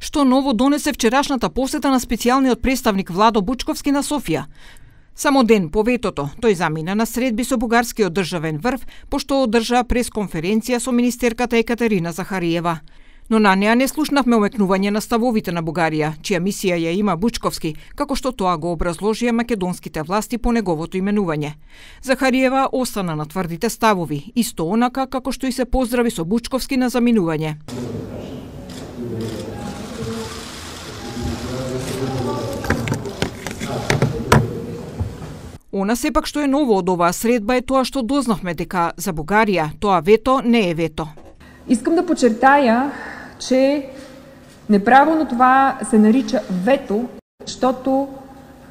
Што ново донесе вчерашната посета на специјалниот представник Владо Бучковски на Софија? Само ден по ветото, тој замина на средби со бугарскиот државен врв, пошто одржа пресконференција со министерката Екатерина Захариева. Но на неа не слушнавме омекнување на ставовите на Бугарија, чија мисија ја има Бучковски, како што тоа го образложија македонските власти по неговото именување. Захариева остана на тврдите ставови, исто онака како што и се поздрави со Бучковски на заминување. Она сепак што е ново од оваа средба е тоа што дознавме дека за Бугарија тоа вето не е вето. Искам да подчертая, че неправилно това се нарича вето, защото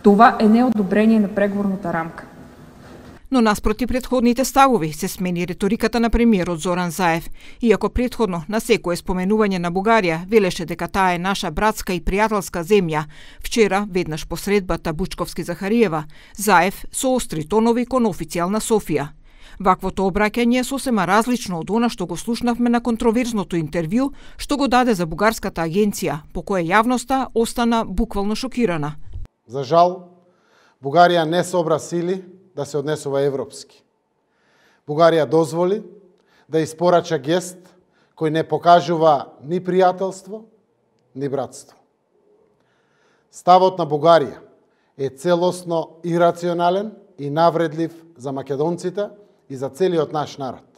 това е неодобрение на преговорната рамка. Но наспроти претходните ставови се смени реториката на премиерот Зоран Заев. Иако претходно на секое споменување на Бугарија велеше дека таа е наша братска и пријателска земја, вчера, веднаш по средбата Бучковски-Захариева, Заев соостри тонови кон официјална Софија. Ваквото обраќање е сосема различно од она што го слушнавме на контроверзното интервју што го даде за бугарската агенција, по кое јавноста остана буквално шокирана. За жал, Бугарија не собра сили да се однесува европски. Бугарија дозволи да испорача гест кој не покажува ни пријателство, ни братство. Ставот на Бугарија е целосно ирационален и навредлив за македонците и за целиот наш народ.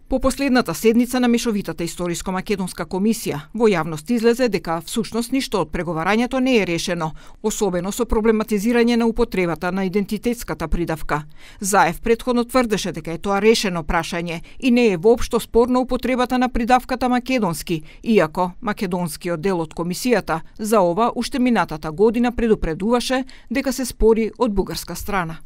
По последната седница на Мешовитата историско-македонска комисија, во јавност излезе дека всушност ништо од преговарањето не е решено, особено со проблематизирање на употребата на идентитетската придавка. Заев претходно тврдеше дека е тоа решено прашање и не е воопшто спорна употребата на придавката македонски, иако македонскиот дел од комисијата за ова уште минатата година предупредуваше дека се спори од бугарска страна.